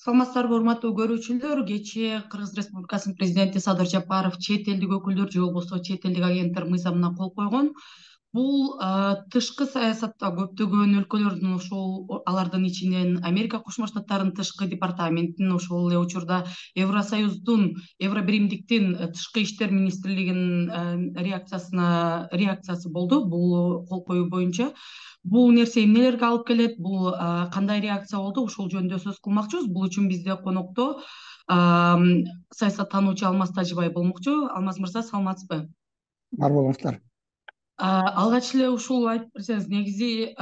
Саламатсыздарбы, урматтуу көрүүчүлөр. Кечээ Кыргыз Республикасынын президенти Садыр Жапаров чет элдик өкүлдөр же болбосо чет элдик агенттер мыйзамына кол койгон. Бул тышкы саясатта көптөгөн өлкөлөрдүн, ошол алардын ичинен Америка Кошмо Штаттарынын тышкы департаментинин, ошол эле учурда Евросоюздун, Евробиримдиктин тышкы иштер министрлигинин реакциясы болду бул кол коюу боюнча. Бул нерсе эмнелерге алып келет, бул кандай реакция болду, ушул жөнүндө сөз кылмакчыбыз. Бул үчүн бизде конокто саясаттануучу Алмаз Тажибай болмокчу. Алмаз мырза, саламатсызбы? Бар болуңуздар. Алгач эле ушул айтып берсеңиз, негизи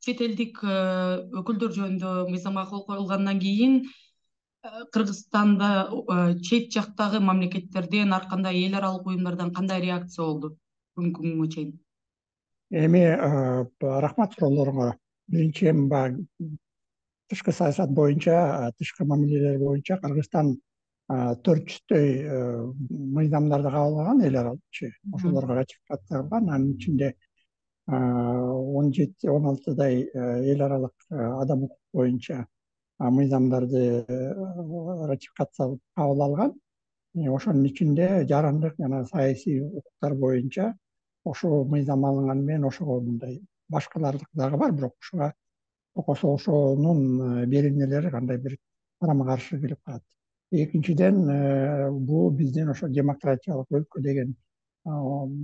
чет элдик өкүлдөр жөнүндө мыйзамга кол коюлгандан кийин Кыргызстанда чет жактагы мамлекеттерден, ар кандай эл аралык уюмдардан кандай реакция болду бүгүнкү күнгө чейин? Эми рахмат суроолоруңа. Биринчи эми баягы тышкы саясат боюнча, тышкы мамилелер боюнча Кыргызстан 400 мыйзамдарды кабыл алган, эл аралыкчы. Ошолорго ратификация кылган. Анын ичинде 17-16 эл аралык адам укук боюнча мыйзамдарды ратификация кабыл алган. Ошонун ичинде жарандык жана саясий укуктар боюнча ошол мыйзам алынганы менен ошого мындай башкалардык дагы бар, бирок ошонун беренелери кандай бир карама каршы келип калат. Экинчиден, бул биздин ошо демократиялык өлкө деген кабыл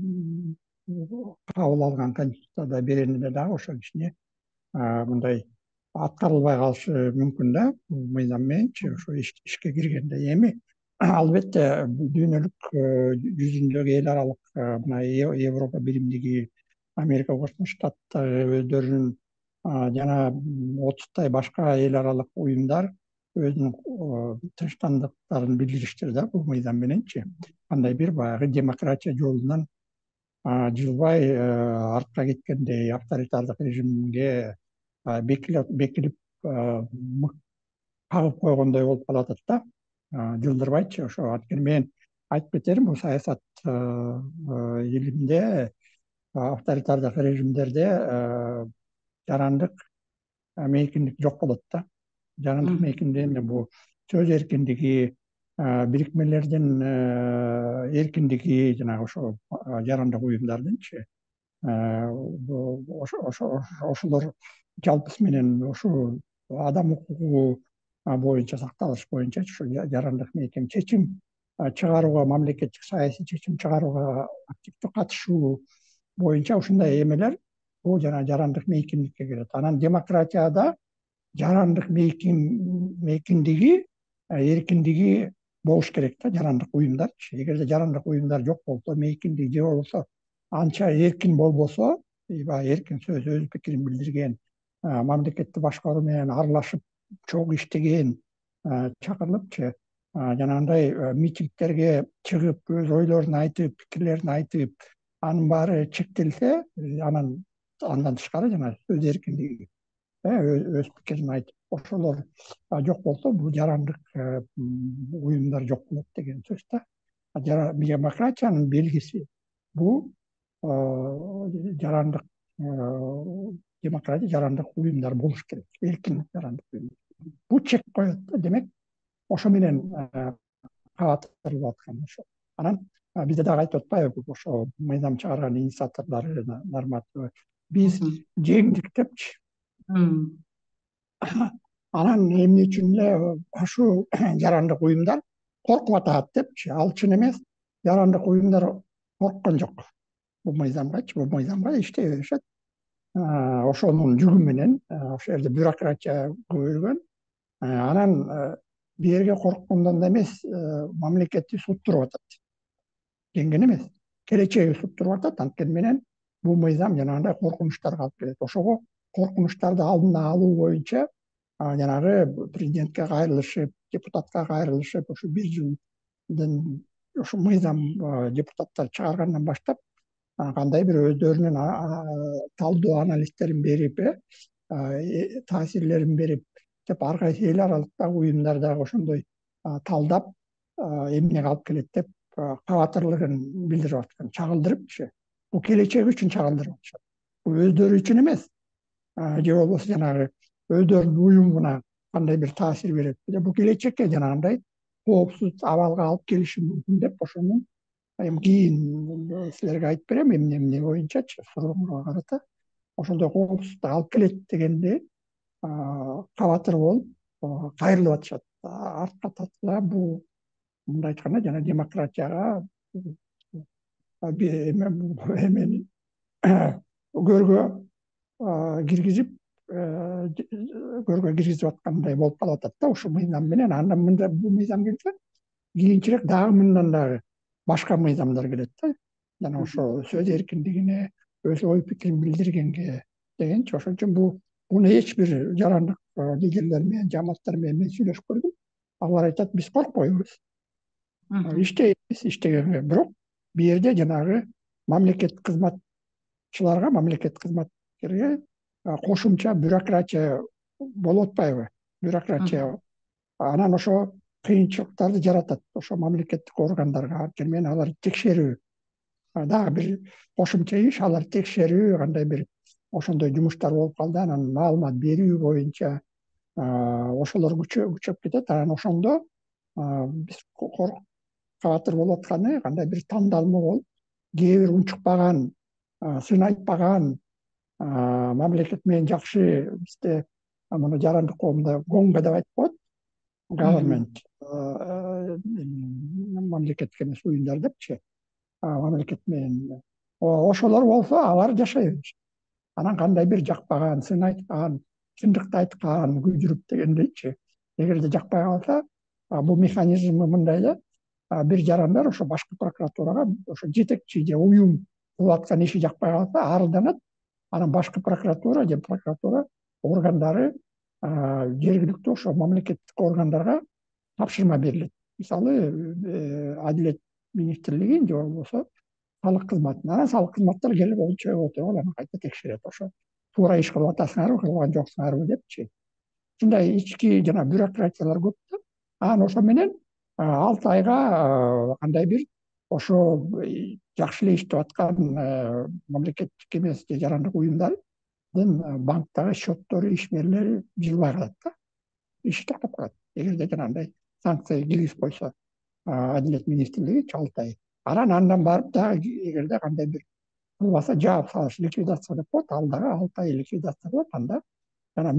алган конституцияда беренелер дагы ошо кичине мындай аткарылбай калышы мүмкүн да, бул мыйзам мененчи ошо ишке киргенде. Эми албетте дүйнөлүк жүзүндөгү эл аралык мына Европа биримдиги, Америка Кошмо Штаттары өздөрүнүн жана 30 башка эл аралык уюмдар өзүнүн тынчтандыктарын билдириштир да бул мыйзам мененчи. Кандай бир баягы демократия жолунан жылбай артка кеткендей, авторитардык режимге бекилип кагып койгондой болуп калатат да. Жылдырбайчы ошо. Анткени мен айтып кетерим, бул саясат илиминде, авторитардык режимдерде жарандык мейкиндик жок болот да. Жарандык мейкинде эми бул сөз эркиндиги, бирикмелердин эркиндиги, жанагы ошо жарандык уюмдардынчы ошолор жалпысы менен ушул адам укугу боюнча сакталыш боюнча ушу жарандык мейкин чечим чыгарууга, мамлекеттик саясий чечим чыгарууга активдүү катышуу боюнча ушундай эмелер бул жана жарандык мейкиндикке кирет. Анан демократияда жарандык мейкиндиги, эркиндиги болуш керек да, жарандык уюмдарчы. Эгерде жарандык уюмдар жок болсо, мейкиндиги же болбосо анча эркин болбосо, баягы эркин сөз, өз пикирин билдирген, мамлекетти башкаруу менен аралашып чогуу иштеген чакырылыпчы, жанагындай митингдерге чыгып, өз ойлорун айтып, пикирлерин айтып, анын баары чектелсе, андан тышкары жана сөз эркиндиги, өз пикирин айтып, ошолор жок болсо, бул жарандык уюмдар жок болот деген сөз да. Демократиянын белгиси бул жарандык демократия, жарандык уюмдар болуш керек, эркин жарандык уюмдар. Бул чек коет да, демек ошо менен кабатырылып аткан ошо. Анан бизде дагы айтып атпайбы, ошо мыйзам чыгарган инициаторлор, нормативы биз жеңдик депчи. Анан эмне үчүн эле ушул жарандык уюмдар коркуп атат депчи. Ал чын эмес. Жарандык уюмдар корккон жок. Бул мыйзамга иштей беришет. Ошонун жүгү менен ошол жерде бюрократия көбөйгөн. Анан бирге корккондон да эмес, мамлекетти суттуруп атат. Жеңген эмес, келечеги суттуруп атат. Анткени менен бул мыйзам жанагындай коркунучтарга алып келет. Ошого коркунучтарды алдына алуу боюнча жанагы президентке кайрылышып, депутатка кайрылышып, ошо 1 жылдын ошо мыйзам депутаттар чыгаргандан баштап кандай бир өздөрүнүн талдоо анализтерин берип, таасирлерин берип, деп ар кайсы эл аралыктагы уюмдар дагы ошондой талдап эмнеге алып келет деп кабатырлыгын билдирип аткан, чагылдырыпчы. Бул келечек үчүн чагылдырып атышат. Бул өздөрү үчүн эмес, же болбосо жанагы өздөрүнүн уюмуна кандай бир таасир берет. Бул келечекке жанагындай коопсуз абалга алып келиши мүмкүн деп ошону эми кийин силерге айтып берем эмне боюнчачы сурооңорго карата ошондой коопсуздукту алып келет дегенде кабатыр болуп кайрылып атышат. Артка татыла бул мындай айтканда жана демократияга эмени көргө киргизип аткандай болуп калып атат да ушул мыйзам менен. Андан мында бул мыйзам келсе кийинчерээк дагы мындан дагы башка мыйзамдар келет да. Жана ошо сөз эркиндигине, өз ой пикирин билдиргенге дегенчи. Ошон үчүн буну эч бир жарандык лидерлер менен, жамааттар менен мен сүйлөшүп көрдүм. Алар айтат, биз коркпойбуз. Иштейбиз, иштегенге. Бирок бул жерде жанагы мамлекеттик кызматчыларга, мамлекеттик кызматкерге кошумча бюрократия болуп атпайбы? Бюрократия анан ошо кыйынчылыктарды жаратат. Ошо мамлекеттик органдарга мен алар текшерүү дагы бир кошумча иш, алар текшерүү кандай бир ошондой жумуштар болуп калды. Анан маалымат берүү боюнча ошолор күчөп кетет. Анан ошондо биз кабатыр болуп атканы кандай бир тандалма болуп, кээ бир унчукпаган, сын айтпаган, мамлекет менен жакшы бизде муну жарандык коомдо гонга деп айтып коет. Government мамлекеттик эмес уюмдар депчи. Мамлекет менен ошолор болсо алар жашай беришет. Анан кандай бир жакпаган, сын айткан, чындыкты айткан, күйдүрүп дегендейчи. Эгерде жакпай калса, бул механизм мындай да, бир жарандар ошо башкы прокуратурага ошо жетекчи же уюм кылып аткан иши жакпай калса арызданат. Анан башкы прокуратура же прокуратура органдары жергиликтүү ошо мамлекеттик органдарга тапшырма берилет. Мисалы, Адилет министрлиги же болбосо салык кызматына. Анан салык кызматтар келип отуруп анан кайта текшерет. Ошо туура иш кылып атасыңарбы, кылган жоксуңарбы депчи. Ушундай ички жана бюрократиялар көп да. Анан ошо менен 6 айга кандай бир ошо жакшы эле иштеп аткан мамлекеттик эмес же жарандык уюмдардын банктагы счеттору, ишмерлери жылбай калат да. Иши токтоп калат. Эгерде жанагындай санкция киргизип койсо Адилет министрлиги 6 ай. Андан барып дагы эгерде кандай бир кылбаса жаап салыш, ликвидация деп коет, ал дагы 6 ай ликвидация кылат. Анда жана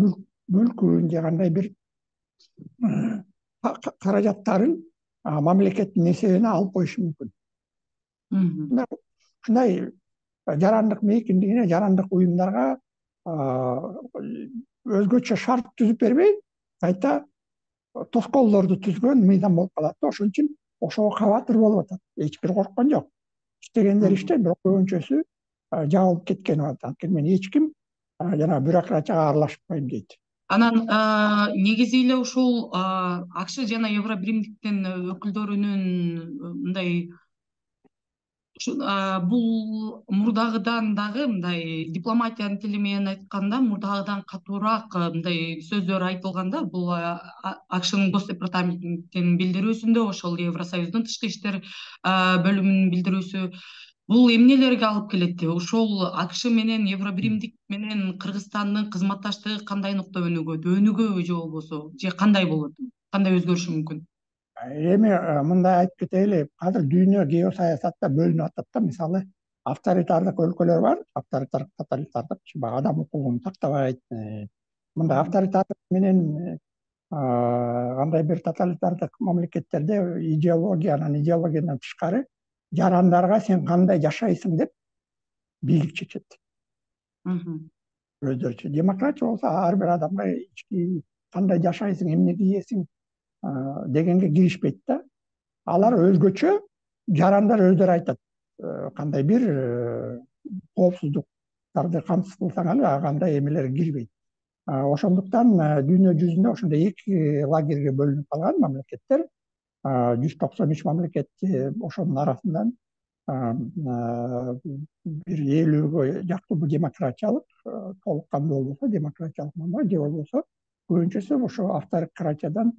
мүлкүн же кандай бир каражаттарын мамлекеттин эсебине алып коюшу мүмкүн. Ушундай жарандык мейкиндигине, жарандык уюмдарга өзгөчө шарт түзүп бербей, кайта тоскоолдорду түзгөн мыйзам болуп калат. Ошон үчүн ошого кабатыр болуп атат. Эч бир корккон жок. Иштегендер иштейт, бирок көбүнчөсү жабылып кеткен анткени мен эч ким жана бюрократияга аралашпайм дейт. Анан негизи эле ушул АКШ жана Евробиримдиктин өкүлдөрүнүн мындай бул мурдагыдан дагы мындай дипломатиянын тили менен айтканда мурдагыдан катуураак мындай сөздөр айтылганда бул АКШнын гос департаментинин билдирүүсүндө ошол Евросоюздун тышкы иштер бөлүмүнүн билдирүүсү бул эмнелерге алып келет? Ошол АКШ менен Евробиримдик менен Кыргызстандын кызматташтыгы кандай нуктабөнүгө өнүгөбү же болбосо же кандай болот? Кандай өзгөрүшү мүмкүн? Эми мындай айтып кетели, азыр дүйнө геосаясатта бөлүнүп атат да. Мисалы, авторитардык өлкөлөр бар, авторитардык, тоталитардык, адам укугун тактабайт. Мындай авторитардык менен кандай бир тоталитардык мамлекеттерде идеологиядан тышкары жарандарга сен кандай жашайсың деп бийлик чечет. Өздөрүчө. Демократия болсо ар бир адамга ички кандай жашайсың, эмне кийесиң дегенге киришпейт да. Алар өзгөчө жарандар өздөрү айтат. Кандай бир коопсуздуктарды камсыз кылсаң кандай эмелер кирбейт. Ошондуктан дүйнө жүзүндө ошондой эки лагерге бөлүнүп калган мамлекеттер, 193 мамлекет, ошонун арасынан бир 50-гө жакын демократиялык, толук кандуу болбосо демократиялык же болбосо көбүнчөсү ошо авторитариядан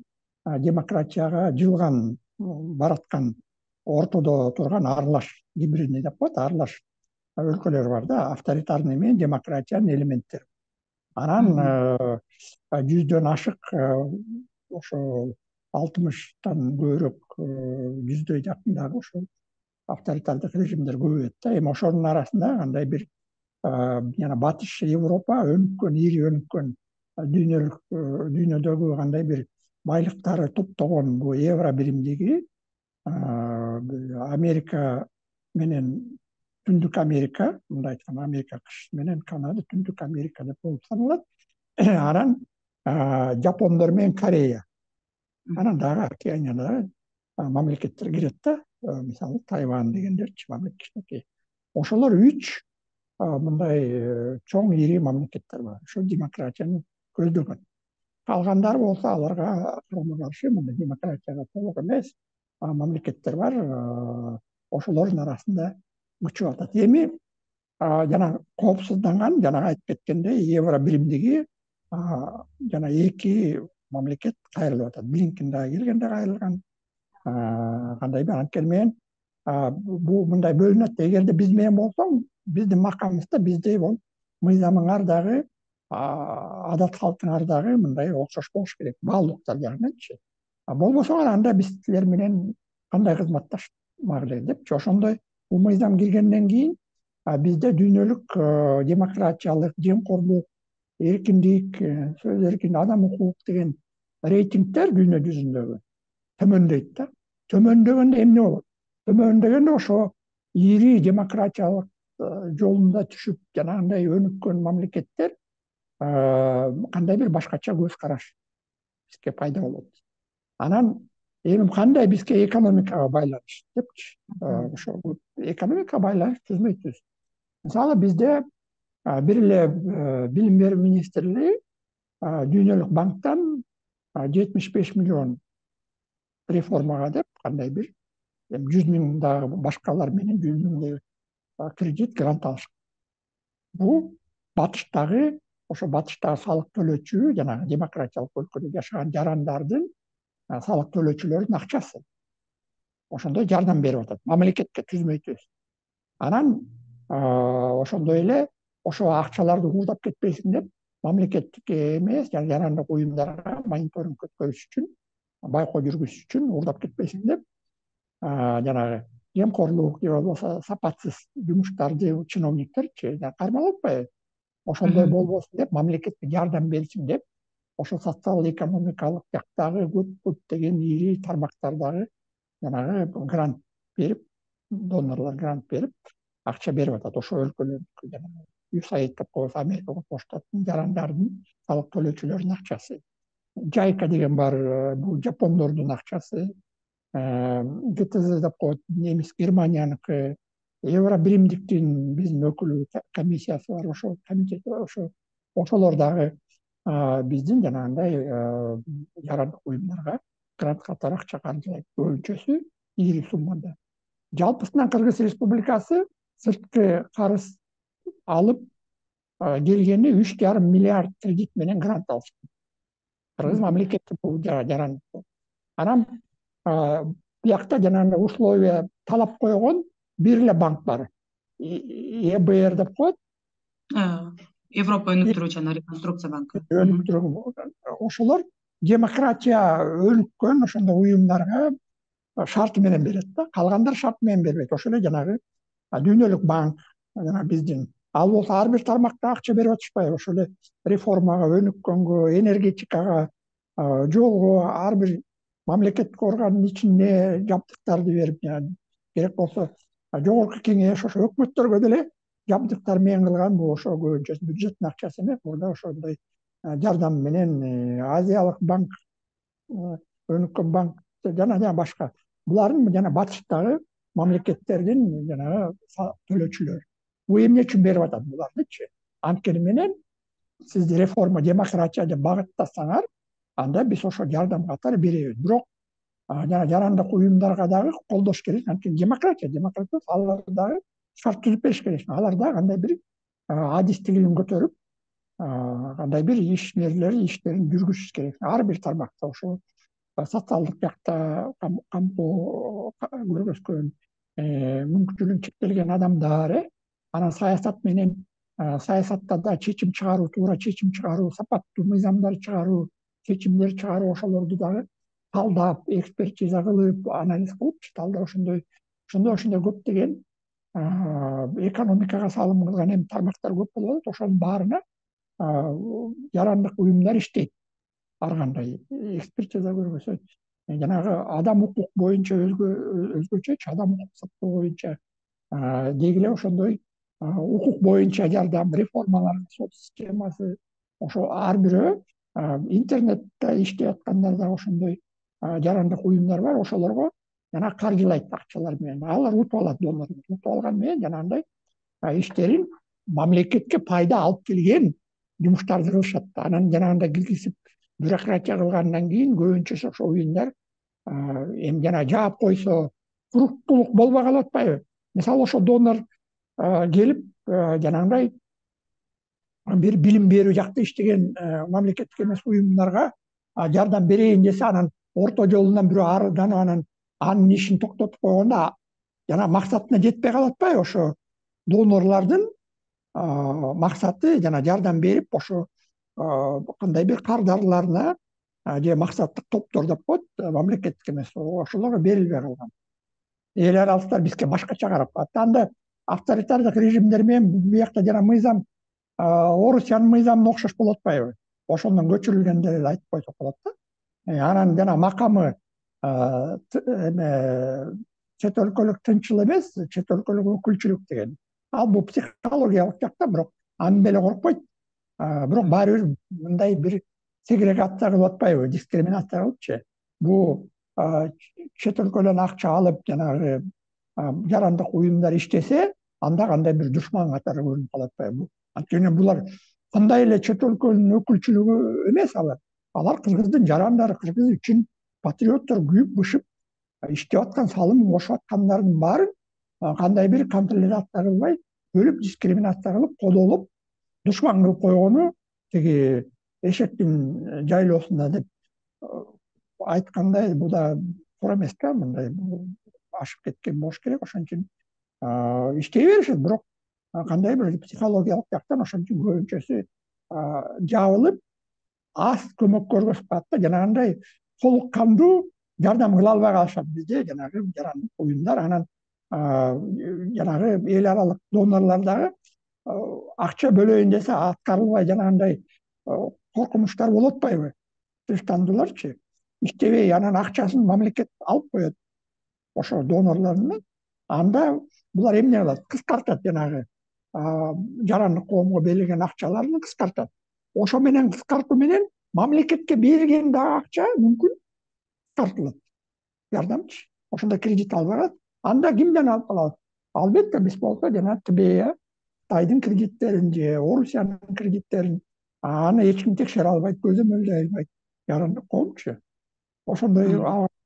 демократияга жылган, бараткан, ортодо турган аралаш гибридный деп коет, аралаш өлкөлөр бар да, авторитарный менен демократиянын элементтери. Анан жүздөн ашык ошо 60-тан көбүрөөк жүздөй жакындагы ошо авторитардык режимдер көп да. Эми ошонун арасында кандай бир жана Батыш Европа өнүккөн, ири өнүккөн дүйнөдөгү кандай бир байлыктары топтогон бул евро биримдиги Америка менен Түндүк Америка, мындай айтканда Америка кыш менен Канада Түндүк Америка деп болуп саналат. Анан Жапондор менен Корея. Анан дагы океанияда мамлекеттер кирет да. Мисалы Тайвань дегендерчи мамлекеттер. Ошолор 3 мындай чоң ири мамлекеттер бар. Ошо демократияны көздөгөн. Калгандар болсо аларга карама каршы мындай демократияга толук эмес мамлекеттер бар. Ошолордун арасында мычып атат. Эми жана коопсузданган, жана айтып кеткендей, евро биримдиги жана 2 мамлекет кайрылып атат. Блинкен дагы келгенде кайрылган. Кандай бир анткени менен бул мындай бөлүнөт. Эгерде биз менен болсоң, биздин макамыбызда биздей болуп, мыйзамыңар дагы, адат калктыңар дагы мындай окшош болуш керек. Баалуулуктар жагынанчы. Болбосо анда биз силер менен кандай кызматташмак эле депчи. Ошондой бул мыйзам киргенден кийин бизде дүйнөлүк демократиялык, жемкорлук, эркиндик, сөз эркиндиги, адам укук деген рейтингдер дүйнө жүзүндөгү төмөндөйт да. Төмөндөгөндө эмне болот? Төмөндөгөндө ошо ири демократиялык жолунда түшүп жанагындай өнүккөн мамлекеттер кандай бир башкача көз караш бизге пайда болот. Анан эми кандай бизге экономикага байланыш депчи. Ошо экономикага байланыш түзмөйбүз. Мисалы бизде бир эле билим берүү министрлиги дүйнөлүк банктан 75 миллион реформага деп кандай бир 100 миң дагы башкалар менен 100 миңдей кредит грант алышкан. Бул батыштагы ошо батыштагы салык төлөөчү жана демократиялык өлкөдө жашаган жарандардын салык төлөөчүлөрдүн акчасы. Ошондой жардам берип атат. Мамлекетке түзмөйбүз. Анан ошондой эле ошо акчаларды уурдап кетпесин деп мамлекеттикке эмес, жарандык уюмдарга мониторинг өткөрүш үчүн, байкоо жүргүзүш үчүн уурдап кетпесин деп жанагы жемкорлук же болбосо сапатсыз жумуштарды чиновниктерчи кармалып атпайбы? Ошондой болбосун деп мамлекетке жардам берсин деп ошо социал экономикалык жактагы көптөгөн ири тармактардагы жанагы грант берип, донорлор грант берип, акча берип атат. Ошо өлкөлөрдүкү жанагы USAID деп коебуз, Америка Кошмо Штаттын жарандардын салык төлөөчүлөрдүн акчасы. Жайка деген бар, бул жапондордун акчасы. ГТЗ деп коет, немис Германияныкы. Евро биримдиктин биздин өкүлү комиссиясы бар, ошо комитет, ошолор дагы биздин жанагындай жарандык уюмдарга грант катары акча каржылайт. Көбүнчөсү ири суммада. Жалпысынан Кыргыз Республикасы сырткы карыз алып келгени 3,5 миллиард кредит менен грант алышкан. Кыргыз мамлекети бул жарандык. Анан биякта жанагындай условия талап койгон бир эле банк бар. ЕБР деп коет. Европа өнүктүрүү жана реконструкция банкы. Ошолор демократия өнүккөн ошондой уюмдарга шарты менен берет да. Калгандар шарт менен бербейт. Ошол эле жанагы дүйнөлүк банк, жана биздин ал болсо ар бир тармакта акча берип атышпайбы? Ошол эле реформага, өнүккөнгө, энергетикага, жолго ар бир мамлекеттик органдын ичинде жабдыктарды берип, керек болсо жогорку кеңеш, ошо өкмөттөргө деле жабдыктар менен кылган. Бул ошо көбүнчөсү бюджеттин акчасы эмес. Мурда ошондой жардам менен Азиялык банк, өнүккөн банк жана башка. Булардын жана батыштагы мамлекеттердин жанагы төлөөчүлөр. Бул эмне үчүн берип атат булардычы? Анткени менен сиз реформа, демократия деп багыттасаңар, анда биз ошо жардам катары беребиз. Бирок жана жарандык уюмдарга дагы колдош керек. Анткени демократия алар дагы шарт түзүп бериш керек. Алар дагы кандай бир адистигин көтөрүп, кандай бир иштерин жүргүзүш керек. Ар бир тармакта ошо социалдык жакта камтоо көргөзгөн мүмкүнчүлүгү чектелген адамдар, анан саясат менен саясатта да чечим чыгаруу, туура чечим чыгаруу, сапаттуу мыйзамдар чыгаруу, чечимдер чыгаруу, ошолорду дагы талдап, экспертиза кылып, анализ кылыпчы, талдап ошондой көптөгөн экономикага салым кылган эми тармактар көп болуп атат. Ошонун баарына жарандык уюмдар иштейт. Ар кандай экспертиза көрбөсө, жанагы адам укук боюнча өзгөчөчү, адам укук сактоо боюнча деги эле ошондой укук боюнча жардам, реформалар, сот системасы, ошо ар бирөө интернетте иштеп аткандар да ошондой жарандык уюмдар бар. Ошолорго жана каржылайт акчалар менен. Алар утуп алат, донорлор утуп алган менен жанагындай иштерин мамлекетке пайда алып келген жумуштарды кылышат. Анан жанагындай киргизип бюрократия кылгандан кийин көбүнчөсү ошо уюмдар эми жана жаап койсо туруктуулук болбой калып атпайбы? Мисалы ошо донор келип жанагындай бир билим берүү жакта иштеген мамлекеттик эмес уюмдарга жардам берейин десе, анан орто жолунан бирөө арыданып анан анын ишин токтотуп койгондо жана максатына жетпей калып атпайбы? Ошо донорлордун максаты жана жардам берип ошо кандай бир кардарларына же максаттык топтор деп коет, мамлекеттик эмес, ошолорго берилбей калган. Эл аралыктар бизге башкача карап калат. Анда авторитардык режимдер менен биякта жана мыйзам Орусиянын мыйзамына окшош болуп атпайбы? Ошондон көчүрүлгенде эле айтып койсок болот да. Анан жана макамы чет өлкөлүк тынчыл эмес, чет өлкөлүк өкүлчүлүк деген. Ал бул психологиялык жакта, бирок аны деле коркпойт. Бирок баары бир мындай бир сегрегация кылып атпайбы, дискриминация кылыпчы. Бул чет өлкөдөн акча алып жанагы жарандык уюмдар иштесе, анда кандай бир душман катары көрүнүп калып атпайбы? Анткени булар кандай эле чет өлкөнүн өкүлчүлүгү эмес, алар кыргыздын жарандары, кыргыз үчүн патриоттор, күйүп бышып иштеп аткан, салым кошуп аткандардын баарын кандай бир контролизация кылбай, бөлүп дискриминация кылып, кодолоп, душман кылып койгону тиги эшектин жайлоосунда деп айткандай, бул да туура эмес да, мындай ашып кеткен болуш керек. Ошон үчүн иштей беришет, бирок кандай бир психологиялык жактан ошон үчүн көбүнчөсү жабылып, аз көмөк көргөзүп калат да, жанагындай толук кандуу жардам кыла албай калышат бизде жанагы жарандык уюмдар. Анан жанагы эл аралык донорлор дагы акча бөлөйүн десе аткарылбай жанагындай коркунучтар болуп атпайбы? Тынчтандууларчы иштебей, анан акчасын мамлекет алып коет ошо донорлордун. Анда булар эмне кылат? Кыскартат, жанагы жарандык коомго берилген акчаларын кыскартат. Ошо менен кыскартуу менен мамлекетке берилген дагы акча мүмкүн кыскартылат. Жардамчы. Ошондо кредит албай калат. Анда кимден алып калат? Албетте биз болсо жана ТБ, Кытайдын кредиттерин же Орусиянын кредиттерин аны эч ким текшере албайт, көзөмөлдөй албайт. Жарандык коомчу. Ошондой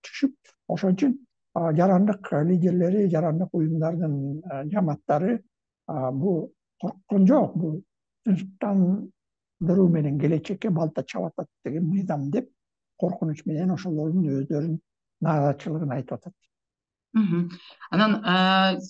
түшүп, ошон үчүн жарандык лидерлери, жарандык уюмдардын жамааттары бул корккон жок, бул тынчтандыруу менен келечекке балта чаап атат деген мыйзам деп коркунуч менен ошолордун өздөрүнүн нааразычылыгын айтып атат. Анан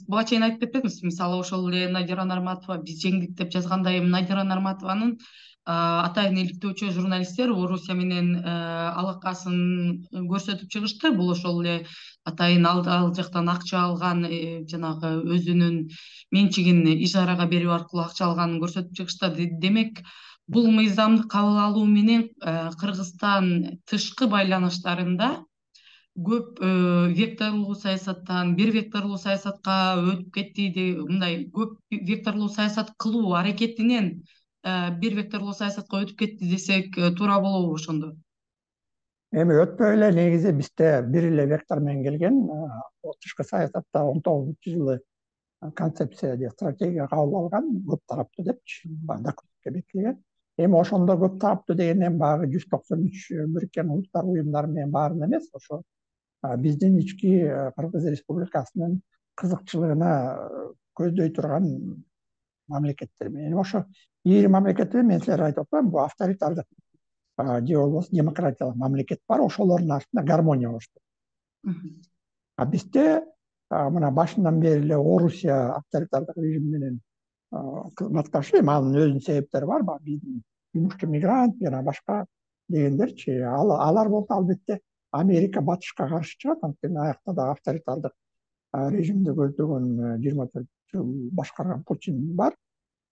буга чейин айтып кетпедиңиз, мисалы ошол эле Надира Нарматова биз жеңдик деп жазгандай, Надира Нарматованын атайын иликтөөчү журналисттер Орусия менен алакасын көрсөтүп чыгышты. Бул ошол эле атайын ал жактан акча алган, жанагы өзүнүн менчигин ижарага берүү аркылуу акча алганын көрсөтүп чыгышты. Демек, бул мыйзамды кабыл алуу менен Кыргызстан тышкы байланыштарында көп векторлуу саясаттан бир векторлуу саясатка өтүп кетти, мындай көп векторлуу саясат кылуу аракетинен бир векторлуу саясатка өтүп кетти десек туура болобу ошондо? Эми өтпөй эле негизи бизде бир эле вектор менен келген тышкы саясатта 19-жылы концепция же стратегия кабыл алган, көп тараптуу депчи, документке бекитилген. Эми ошондо көп тараптуу дегенден баягы 193 Бириккен Улуттар уюмдары менен баарын эмес, ошо биздин ички Кыргыз Республикасынын кызыкчылыгына көздөй турган мамлекеттер менен. Ошо 20 мамлекеттер мен силерге айтып атпаймынбы, бул авторитардык же болбосо демократиялык мамлекет бар, ошолордун артында гармония болушту. Бизде мына башынан бери эле Орусия авторитардык режим менен кызматташы, эми анын өзүнүн себептери бар, биздин жумушчу мигрант жана башка дегендерчи. Алар болсо албетте Америка батышка каршы чыгат, анткени аякта да авторитардык режимди көздөгөн 24 жыл башкарган Путин бар.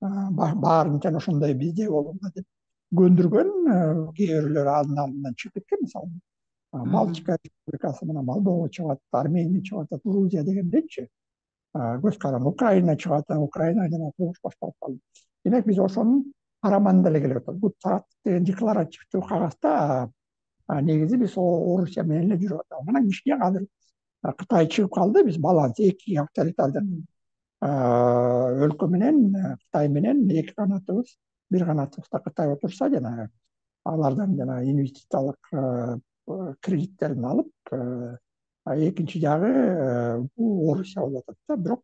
Баарын жана ошондой бизде болгонго деп көндүргөн. Кээ бирлөр анын алдынан чыгып кеткен, мисалы Балтика республикасы менен Молдова чыгып атат, Армения чыгып атат, Грузия дегендейчи. Көз каран Украина чыгып атат, Украина жана согуш башталып калды. Демек биз ошонун караманында эле келип атат. Бул деген декларативдүү кагазда негизи биз Орусия менен эле жүрүп атабыз. Анан кичине азыр Кытай чыгып калды, биз баланс эки авторитардык өлкө менен Кытай менен эки канатыбыз, бир канатыбызда Кытай отурса жана алардан жана инвестициялык кредиттерин алып, экинчи жагы бул Орусия болуп атат да. Бирок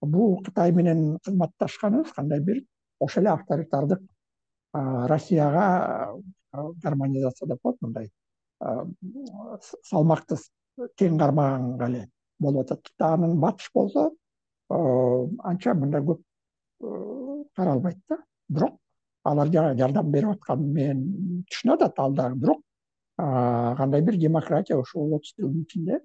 бул Кытай менен кызматташканыбыз кандай бир ошол эле авторитардык Россияга гармонизация деп коет, мындай салмакты тең кармаганга эле болуп атат. Анын батыш болсо анча мындай көп каралбайт да. Бирок алар жардам берип атканын мен түшүнүп атат ал дагы. Бирок кандай бир демократия ушул 30 жылдын ичинде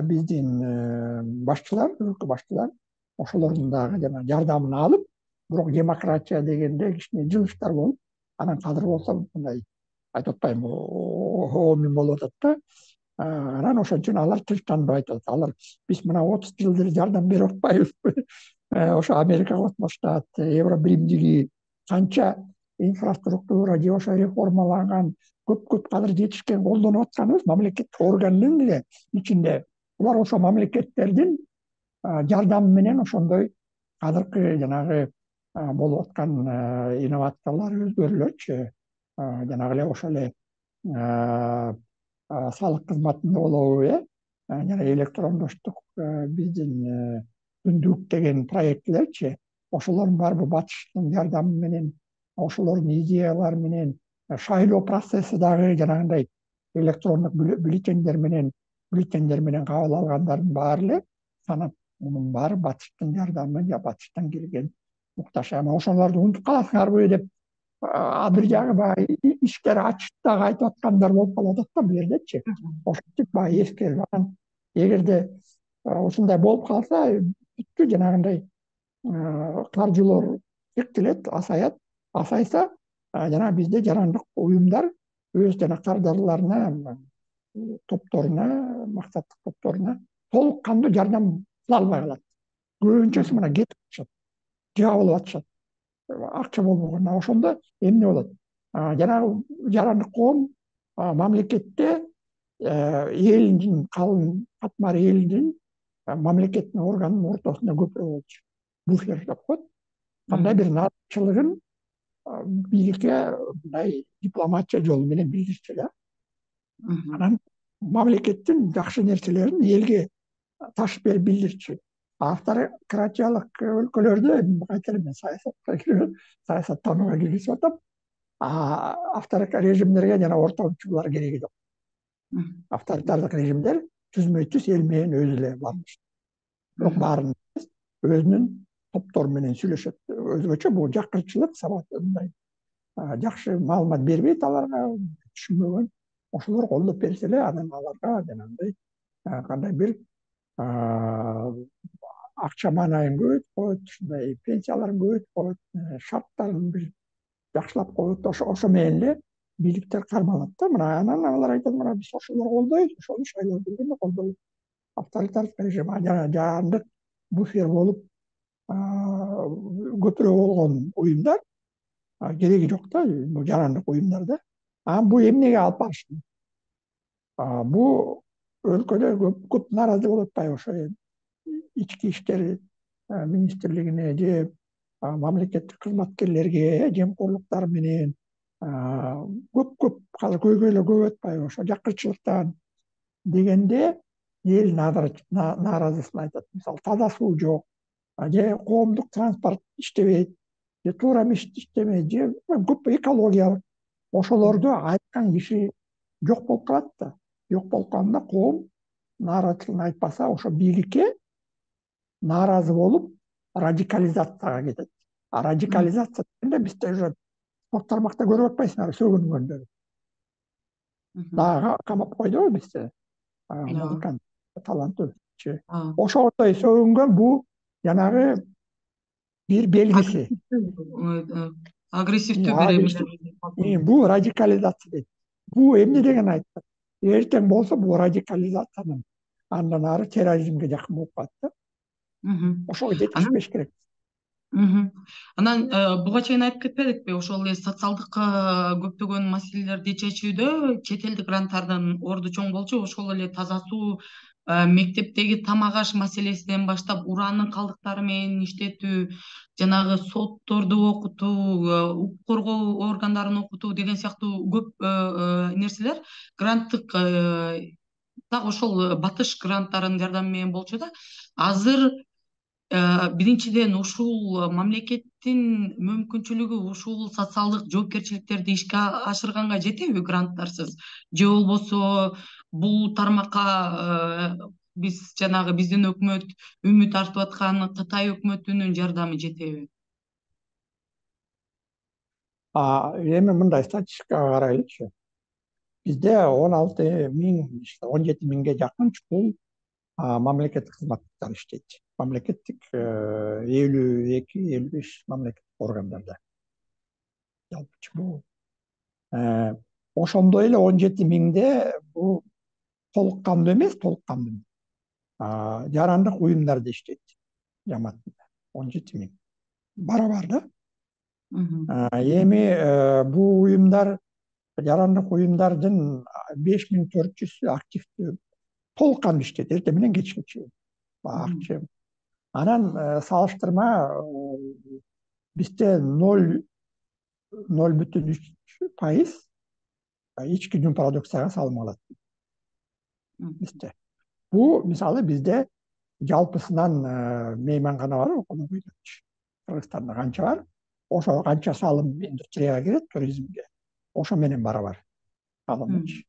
биздин башчылар, өлкө башчылар ошолордун дагы жана жардамын алып, бирок демократия дегенде кичине жылыштар болуп, анан кадыр болсо мындай айтып атпайбы, оомин болуп атат да. Анан ошон үчүн алар тынчтанбай айтып атат. Алар биз мына 30 жылдыр жардам берип атпайбызбы? Ошо Америкага отмоштат, Евробиримдиги канча инфраструктура же ошо реформаланган көп кадыр жетишкен колдонуп атканыбыз мамлекеттик органдын эле ичинде. Булар ошо мамлекеттердин жардамы менен ошондой азыркы жанагы болуп аткан инновациялар, өзгөрүүлөрчү, жанагы эле ошо эле салык кызматында болобу, жана электрондоштук биздин күндүк деген проектлерчи, ошолордун баары батыштын жардамы менен, ошолордун идеялары менен, шайлоо процесси дагы жанагындай электрондук бюллетендер менен кабыл алгандардын баары эле санап, мунун баары батыштын жардамы, батыштан келген муктаж. Эми ошолорду унутуп каласыңарбы деп бир жагы баягы иштер ачып дагы айтып аткандар болуп калып атат да бул жердечи. Ошентип баягы эскерип, анан эгерде ушундай болуп калса, бүттү, жанагындай каржылоо чектелет, асайса, жана бизде жарандык уюмдар өз жана кардарларына, топторуна, максаттык топторуна толук кандуу жардам кыла албай калат. Көбүнчөсү мына кетип атышат, жабылып атышат, акча болбогондо. Ошондо эмне болот? Жанагы жарандык коом мамлекетте элдин, калың катмар элдин мамлекеттин органынын ортосунда көпүрө болчу. Буфер деп коет. Кандай бир наазачылыгын бийликке мындай дипломатия жолу менен билдирчү да. Анан мамлекеттин жакшы нерселерин элге ташып берип билдирчү. Автократиялык өлкөлөрдө, кайта эле мен саясаттанууга киргизип атам, авторитар режимдерге жана ортомчулар кереги жок. Авторитардык режимдер түзмөй-түз эл менен өзү эле бармыш. Бирок баарын өзүнүн топтору менен сүйлөшөт. Өзгөчө бул жакырчылык сабат, мындай жакшы маалымат бербейт аларга, түшүнбөгөн. Ошолор колдоп берсе эле анан аларга жанагындай кандай бир акча маанайын көбөйтүп коет, ушундай пенсияларын көбөйтүп коет, шарттарын бир жакшылап коет. Ошо менен эле бийликтер кармалат да. Мына анан алар айтат, мына биз ошолорду колдойбуз, ошону шайлоо келгенде колдойбуз. Авторитардык режим жарандык буфер болуп көпүрө болгон уюмдар кереги жок да, бул жарандык уюмдарда. Бул эмнеге алып барышты? Бул өлкөдө көп нааразы болуп атпайбы? Ошо ички иштер министрлигине же мамлекеттик кызматкерлерге жемкорлуктар менен көп азыр көйгөйлөр көп атпайбы? Ошо жакырчылыктан дегенде эл нааразысын айтат. Мисалы, таза суу жок, же коомдук транспорт иштебейт, же туура мешит иштебейт, же көп экологиялык. Ошолорду айткан киши жок болуп калат да. Жок болуп калганда коом нааразычылыгын айтпаса, ошо бийликке нааразы болуп радикализацияга кетет. Радикализация дегенде бизде уже спорт тармакта көрүп атпайсыңарбы сөгүнгөндөрү. Дагы камап койду бизде. Музыкант таланттуучу. Ошондой сөгүнгөн бул жанагы бир белгиси. Агрессивдүү бир бул радикализация дейт. Бул эмне деген айтат? Эртең болсо бул радикализациянын андан ары терроризмге жакын болуп калат да. Ошого жетишпеш керек. Анан буга чейин айтып кетпедикпи, ошол эле социалдык көптөгөн маселелерди чечүүдө чет элдик гранттардын орду чоң болчу. Ошол эле таза суу, мектептеги тамак аш маселесинен баштап ураандын калдыктары менен иштетүү, жанагы сотторду окутуу, укук коргоо органдарын окутуу деген сыяктуу көп нерселер гранттык так ошол батыш гранттарынын жардамы менен болчу да. Азыр биринчиден ушул мамлекеттин мүмкүнчүлүгү ушул социалдык жоопкерчиликтерди ишке ашырганга жетеби гранттарсыз, же болбосо бул тармакка биз жанагы биздин өкмөт үмүт артып аткан Кытай өкмөтүнүн жардамы жетеби? Эми мындай статистикага карайлычы. Бизде 16.000, 17.000ге жакын чукул мамлекеттик кызматтар иштейт. Мамлекеттик 52-55 мамлекеттик органдарда. Жалпычы бул. Ошондой эле 17.000де бул толук кандуу эмес, толук кандуу. Жарандык уюмдарда иштейт. Жамаатында 17.000. Барабар да. Эми бул уюмдар, жарандык уюмдардын 5400 активдүү толук кандуу иштейт. Эртең менен кечке чейин. Акча. Анан салыштырма бизде 0,3% ички жүн продукцияга салым алат. Бизде. Бул мисалы бизде жалпысынан мейманкана бар, Кыргызстанда канча бар? Ошо канча салым индустрияга кирет, туризмге. Ошо менен барабар. Салымчы.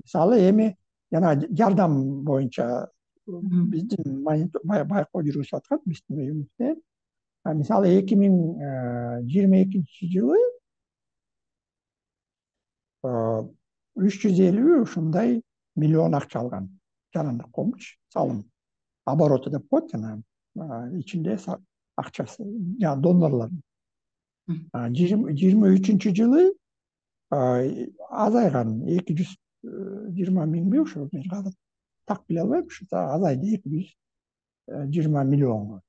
Мисалы эми жана жардам боюнча биздин байкоо жүргүзүп аткан биздин уюмубузда. Мисалы 2022 жылы 350 ушундай миллион акча алган. Жарандык коомчу салым. Обороту деп коет жана ичинде акчасы, жана донорлор. 23 жылы азайган 220 миңби ошо так биле албайм, азайды 220 миллионго.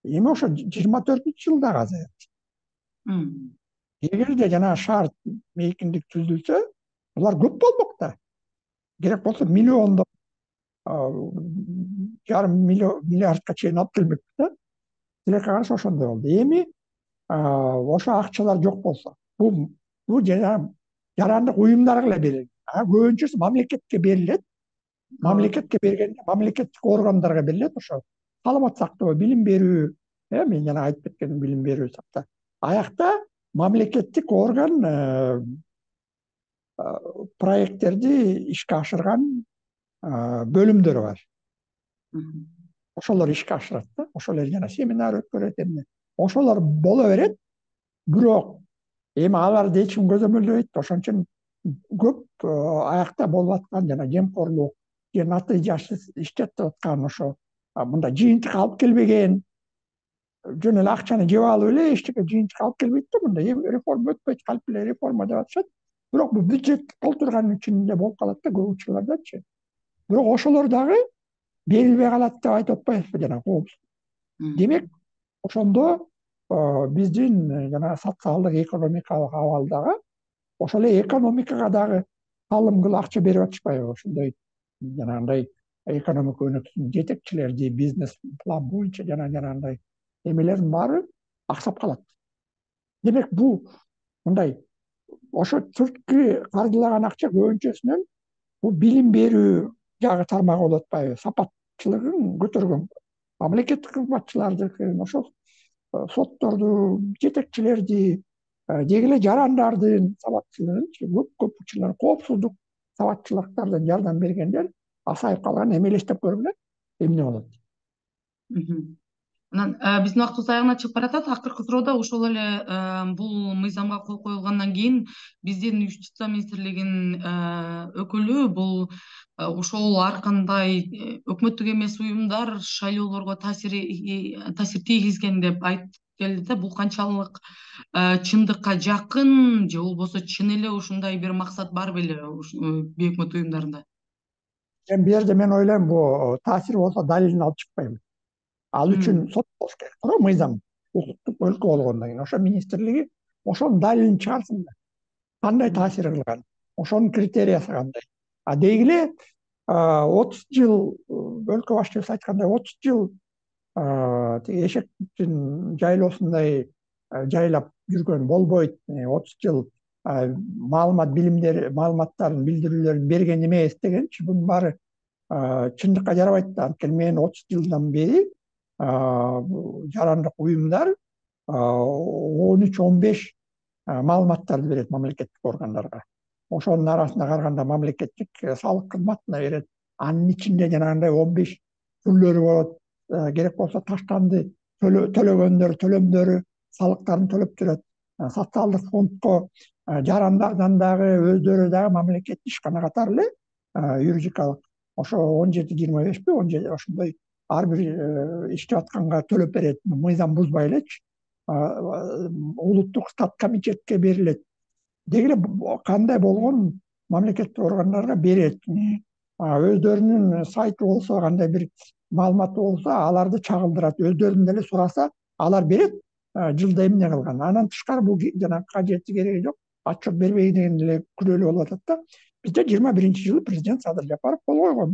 Эми ошо 24-жылы дагы азайат. Эгерде жана шарт мейкиндик түзүлсө, булар көп болмок да. Керек болсо миллиондоп, жарым миллиардка чейин алып келмек да. Тилекке каршы ошондой болду. Эми ошо акчалар жок болсо, бул жарандык уюмдарга эле берилет. Көбүнчөсү мамлекетке берилет. Мамлекетке бергенде мамлекеттик органдарга берилет. Ошо саламат сактоо, билим берүү, мен жана айтып кеткеним билим берүү сакта. Аякта мамлекеттик орган проекттерди ишке ашырган бөлүмдөр бар. Ошолор ишке ашырат да. Ошолор жана семинар өткөрөт эмне. Ошолор боло берет. Бирок эми аларды эч ким көзөмөлдөбөйт. Ошон үчүн көп аякта болуп аткан жана жемкорлук, же натыйжасыз иштетип аткан ошо мындай жыйынтык алып келбеген, жөн эле акчаны жеп алып эле эчтеке жыйынтык алып келбейт да. Мындай реформа өтпөйт, калп эле реформа деп атышат. Бирок бул бюджетти толтурганын ичинде болуп калат да көп учурлардачы. Бирок ошолор дагы берилбей калат деп айтып атпайбызбы жана коопсуз. Демек, ошондо биздин жана социалдык экономикалык абалдагы ошол эле экономикага дагы салым кылып акча берип атышпайбы? Ошондой жанагындай экономика өнөксүн жетекчилерди бизнес план боюнча жанагындай эмелердин баары аксап калат. Демек, бул мындай ошо сырткы каржылаган акча көбүнчөсүнөн бул билим берүү жагы тармагы болуп атпайбы? Сапатчылыгын көтөргөн мамлекеттик кызматчылардыкын, ошол сотторду, жетекчилерди, деги эле жарандардын сабатчылыгынчы көп учурлар коопсуздук сабатчылыктардан жардам бергендер асайып калган. Эми элестеп көргүлө эмне болот? Анан биздин убактыбыз аягына чыгып баратат. Акыркы суроодо ошол эле бул мыйзамга кол коюлгандан кийин биздин Юстиция министрлигинин өкүлү бул ошол ар кандай өкмөттүк эмес уюмдар шайлоолорго таасир тийгизген деп айтып келди да. Бул канчалык чындыкка жакын, же болбосо чын эле ушундай бир максат бар беле бейөкмөт уюмдарында? Бул жерде мен ойлойм, бул таасир болсо далилин алып чыкпайм. Ал үчүн сот болуш керек, туура мыйзам, укуктук өлкө болгондон кийин ошо министрлиги ошонун далилин чыгарсын да. Кандай таасир кылган, ошонун критериясы кандай. Деги эле 30 жыл, өлкө башчыбыз айткандай, 30 жыл тиги эшектин жайлоосундай жайлап жүргөн болбойт. 30 жыл маалыматтарын, билдирүүлөрүн берген эмес дегенчи, бунун баары чындыкка жарабайт да. Анткени мен 30 жылдан бери жарандык уюмдар 13-15 маалыматтарды берет мамлекеттик органдарга. Ошонун арасына караганда мамлекеттик салык кызматына берет. Анын ичинде жанагындай 15 түрлөрү болот. Керек болсо таштанды төлөгөндөр төлөмдөрү, салыктарын төлөп жүрөт. Социалдык фондко жарандардан дагы өздөрү дагы мамлекеттик ишкана катары эле юридикалык ошо 17-25 17 ошондой ар бир иштеп атканга төлөп берет, мыйзам бузбай элечи. Улуттук стат комитетке берилет. Деги эле кандай болгон мамлекеттик органдарга берет. Өздөрүнүн сайты болсо, кандай бир маалыматы болсо, аларды чагылдырат. Өздөрүнөн деле сураса, алар берет, жылда эмне кылган. Андан тышкары бул жанагы кажети кереги жок, отчет бербей деген эле күнөөлүү болуп атат да. Бизде 21-жылы президент Садыр Жапаров кол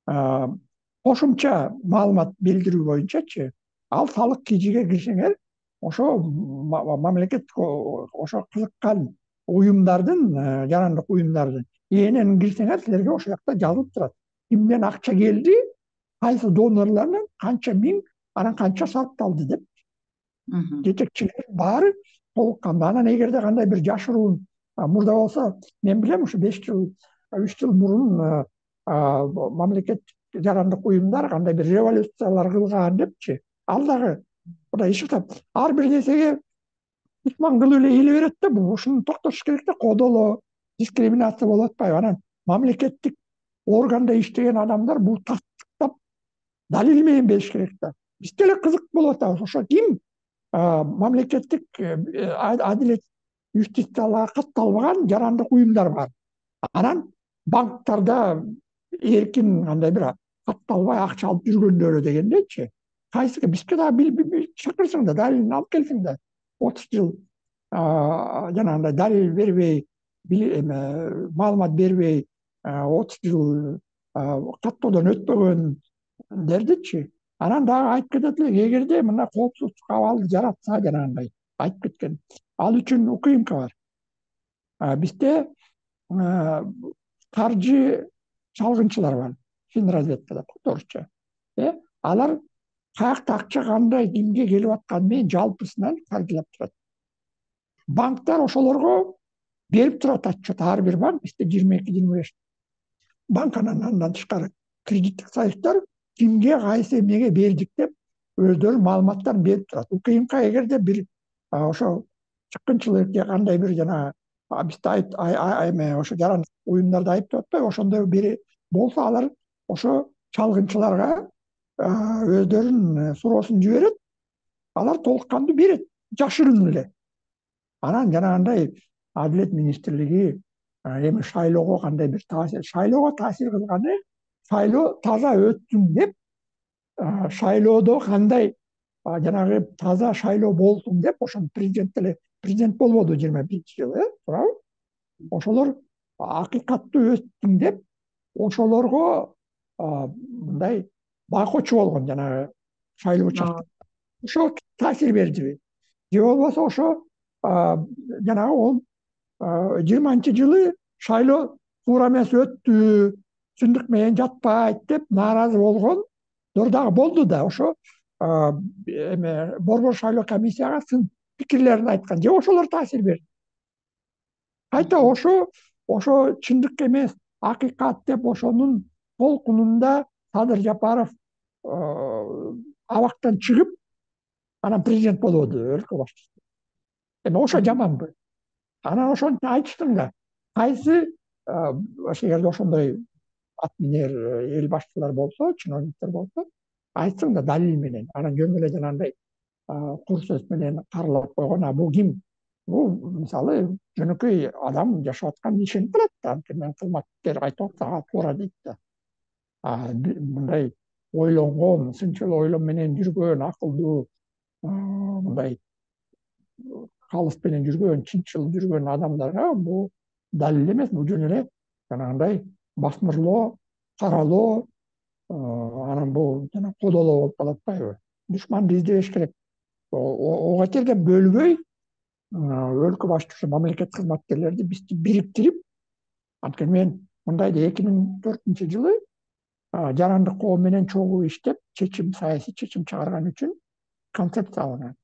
койгон. Кошумча маалымат билдирүү боюнчачы, ал салык кижиге кирсеңер, ошо мамлекеттик ошо кызыккан уюмдардын, жарандык уюмдардын ИНН кирсеңер, силерге ошол жакта жазылып турат. Кимден акча келди, кайсы донорлордон канча миң, анан канча сарпталды деп. Жетекчилер баары толуккан. Анан эгерде кандай бир жашыруун мурда болсо, мен билем ушу 5 жыл, 3 жыл мурун мамлекеттик жарандык уюмдар кандай бир революциялар кылган депчи. Ал дагы Кудай ишиктеп, ар бир нерсеге ишман кылып эле ийиле берет да. Бул ушуну токтотуш керек да, кодолоо, дискриминация болуп атпайбы? Анан мамлекеттик органда иштеген адамдар бул тастыктап далил менен бериш керек да. Бизге эле кызык болуп атабыз. Ошо ким мамлекеттик адилет юстицияларга катталбаган жарандык уюмдар бар. Анан банктарда эркин кандай бир катталбай акча алып жүргөндөрү дегендечи. Кайсыга бизге дагы чакырсаң да, далилин алып келсең да, 30 жыл жанагындай далил бербей, маалымат бербей, 30 жыл каттоодон өтпөгөндердичи. Анан дагы айтып кетет элек, эгерде мына коопсуздук абалды жаратса, жанагындай айтып кеткен, ал үчүн УКМК бар. Бизде каржы чалгынчылар бар, финразведкада орусча. Алар каякта акча кандай, кимге келип атканы менен жалпысынан каржылап турат. Банктар ошолорго берип турат отчет. Ар бир банк, бизде 22-25 банк, андан тышкары кредиттик союздар кимге, кайсы эмнеге бердик деп өздөрүнүн маалыматтарын берип турат. УКМК эгерде бир ошо чыккынчылык же кандай бир жанагы бизде ошо жарандык уюмдарды айыптап атпайбы, ошондой бери болсо, алар ошо чалгынчыларга өздөрүнүн суроосун жиберет, алар толукканды берет, жашырын эле. Анан жанагындай Адилет министрлиги эми шайлоого кандай бир шайлоого таасир кылганы, шайлоо таза өттүн деп, шайлоодо кандай жанагы таза шайлоо болсун деп, ошону президент болбоду 21-жылы, туурабы? Ошолор акыйкаттуу өттүн деп, ошолорго мындай байкоочу болгон жанагы шайлоо участоктор. Ошо таасир бердиби? Же болбосо ошо жанагы ол 20-жылы шайлоо туура эмес өттү, чындык менен жатпайт деп нааразы болгондор дагы болду да. Ошо борбор шайлоо комиссияга сын пикирлерин айткан. Же ошолор таасир берди. Кайта ошо чындык эмес, акыйкат деп ошонун толкунунда Садыр Жапаров абактан чыгып, анан президент болобу өлкө башчысы. Эми ошо жаманбы? Анан ошентип айтыштым да, кайсы ошол жерде ошондой атминер эл башчылар болсо, чиновниктер болсо, айтсың да далил менен. Анан жөн эле жанагындай кур сөз менен каралап койгон. А бул ким? Бул мисалы жөнөкөй адам жашап атканын ишенип калат да. Анткени мен кызматкер айтып атса туура дейт да. Мындай ойлонгон, сынчыл ойлом менен жүргөн, акылдуу, мындай калыс менен жүргөн, чынчыл жүргөн адамдарга бул далил эмес, бул жөн эле жанагындай басмырлоо, каралоо, анан бул жана кодолоо болуп калат атпайбы? Душманды издебеш керек. Ого келген бөлбөй өлкө башчысы мамлекет кызматкерлерди бизди бириктирип, анткени мен мындайды 2004-жылы жарандык коом менен чогуу иштеп, саясий чечим чыгарган үчүн концепция алынган.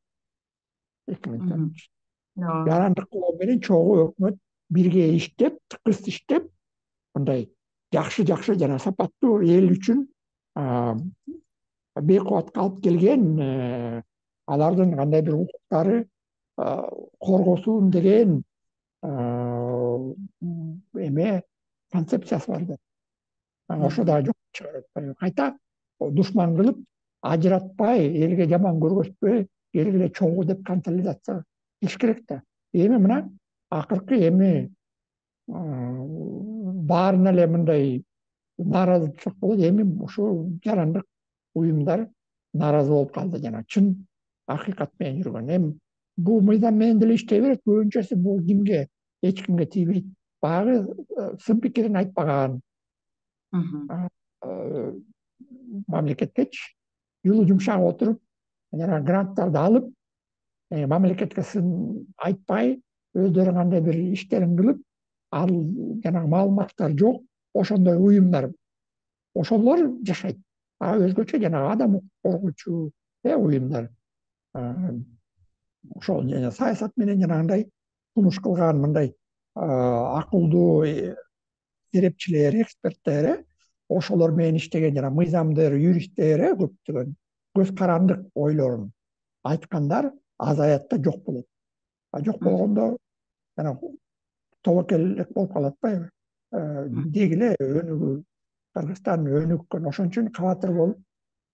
2004. Жарандык коом менен чогуу өкмөт бирге иштеп, тыкыз иштеп, мындай жакшы жана сапаттуу эл үчүн бейкубатка алып келген, алардын кандайдыр укуктары коргосун деген эме концепциясы бар да. Ошо да жок чыгарып атпайбы? Кайта душман кылып, ажыратпай, элге жаман көргөзбөй, элге чогуу деп консолидация кылыш керек да. Эми мына акыркы эми баарына эле мындай нааразычылык болот. Эми ушул жарандык уюмдар нааразы болуп калды, жана чын акыйкат менен жүргөн. Эми бул мыйзам менен деле иштей берет. Көбүнчөсү бул кимге, эч кимге тийбейт. Баягы сын пикирин айтпаган мамлекеткечи юлу жумшак отуруп, жана гранттарды алып, мамлекетке сын айтпай, өздөрү кандай бир иштерин кылып, ал жанагы маалыматтар жок, ошондой уюмдар, ошолор жашайт. Өзгөчө жанагы адам коргоочу уюмдар, ошол саясат менен жанагындай сунуш кылган мындай акылдуу серепчилер, эксперттер, ошолор менен иштеген жана мыйзамдыр, юристтер, көптөгөн көз карандык ойлорун айткандар азаят да жок болот. Жок болгондо жана тобокелдик болуп калат атпайбы? Деги эле өнүгүү, Кыргызстан өнүккөн, ошон үчүн кабатыр болуп,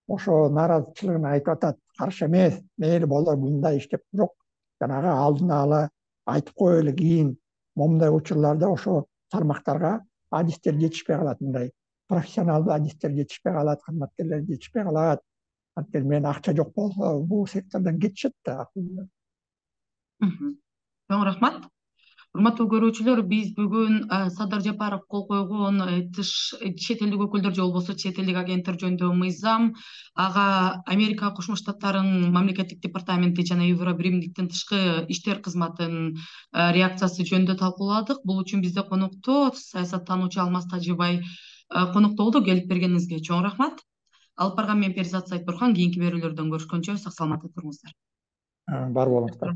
ошо нааразычылыгын айтып атат. Каршы эмес, мейли болор мындай иштеп, бирок жанагы алдын ала айтып коелу, кийин момундай учурларда ошо тармактарга адистер жетишпей калат, мындай профессионалдуу адистер жетишпей калат, кызматкерлер жетишпей калат. Анткени мен акча жок болсо бул сектордон кетишет да. Чоң рахмат. Урматтуу көрүүчүлөр, биз бүгүн Садыр Жапаров кол койгон чет элдик өкүлдөр же болбосо чет элдик агенттер жөнүндөгү мыйзам, ага Америка Кошмо Штаттарынын мамлекеттик департаменти жана Евробиримдиктин тышкы иштер кызматынын реакциясы жөнүндө талкууладык. Бул үчүн бизде конокто саясаттануучу Алмаз Тажибай конокто болду. Келип бергениңизге чоң рахмат. Алып барган мен Перизат Сайтбурхан. Кийинки берүүлөрдөн көрүшкөнчө сак саламатта туруңуздар. Бар болуңуздар.